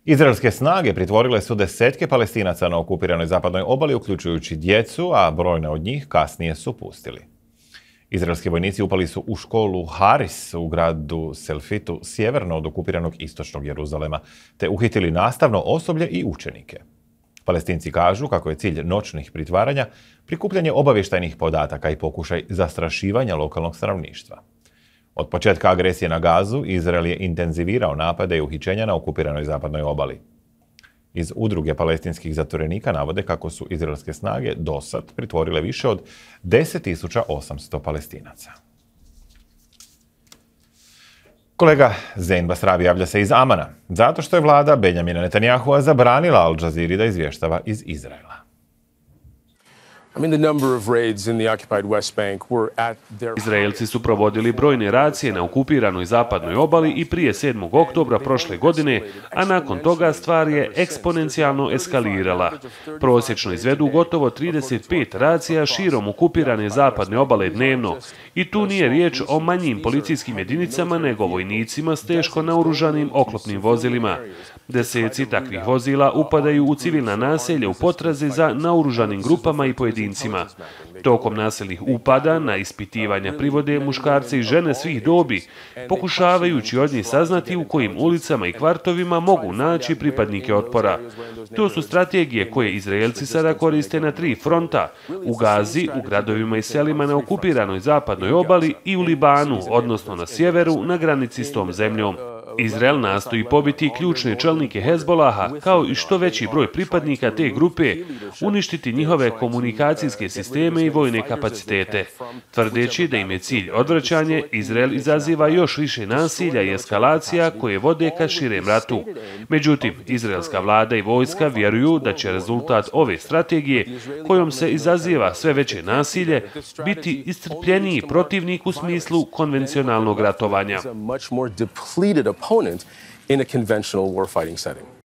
Izraelske snage pritvorile su desetke Palestinaca na okupiranoj zapadnoj obali, uključujući djecu, a brojne od njih kasnije su pustili. Izraelski vojnici upali su u školu Haris u gradu Selfitu, sjeverno od okupiranog istočnog Jeruzalema, te uhitili nastavno osoblje i učenike. Palestinci kažu kako je cilj noćnih pritvaranja prikupljanje obavještajnih podataka i pokušaj zastrašivanja lokalnog stanovništva. Od početka agresije na Gazu, Izrael je intenzivirao napade i uhićenja na okupiranoj zapadnoj obali. Iz udruge palestinskih zatvorenika navode kako su izraelske snage dosad pritvorile više od 10.800 Palestinaca. Kolega Zein Basravi javlja se iz Amana, zato što je vlada Benjamina Netanyahua zabranila Al Jazeera da izvještava iz Izraela. Izraelci su provodili brojne racije na okupiranoj zapadnoj obali i prije 7. oktobra prošle godine, a nakon toga stvar je eksponencijalno eskalirala. Prosječno izvedu gotovo 35 racija širom okupirane zapadne obale dnevno i tu nije riječ o manjim policijskim jedinicama nego vojnicima s teško naoružanim oklopnim vozilima. Deseci takvih vozila upadaju u civilna naselja u potrazi za naoružanim grupama i pojedincima. Tokom nasilnih upada na ispitivanja privode muškarce i žene svih dobi, pokušavajući od njih saznati u kojim ulicama i kvartovima mogu naći pripadnike otpora. To su strategije koje Izraelci sada koriste na 3 fronta, u Gazi, u gradovima i selima na okupiranoj zapadnoj obali i u Libanu, odnosno na sjeveru, na granici s tom zemljom. Izrael nastoji pobiti ključne čelnike Hezbolaha, kao i što veći broj pripadnika te grupe, uništiti njihove komunikacijske sisteme i vojne kapacitete. Tvrdeći da im je cilj odvraćanje, Izrael izaziva još više nasilja i eskalacija koje vode ka širem ratu. Međutim, izraelska vlada i vojska vjeruju da će rezultat ove strategije, kojom se izaziva sve veće nasilje, biti iscrpljeniji protivnik u smislu konvencionalnog ratovanja. Opponent in a conventional warfighting setting.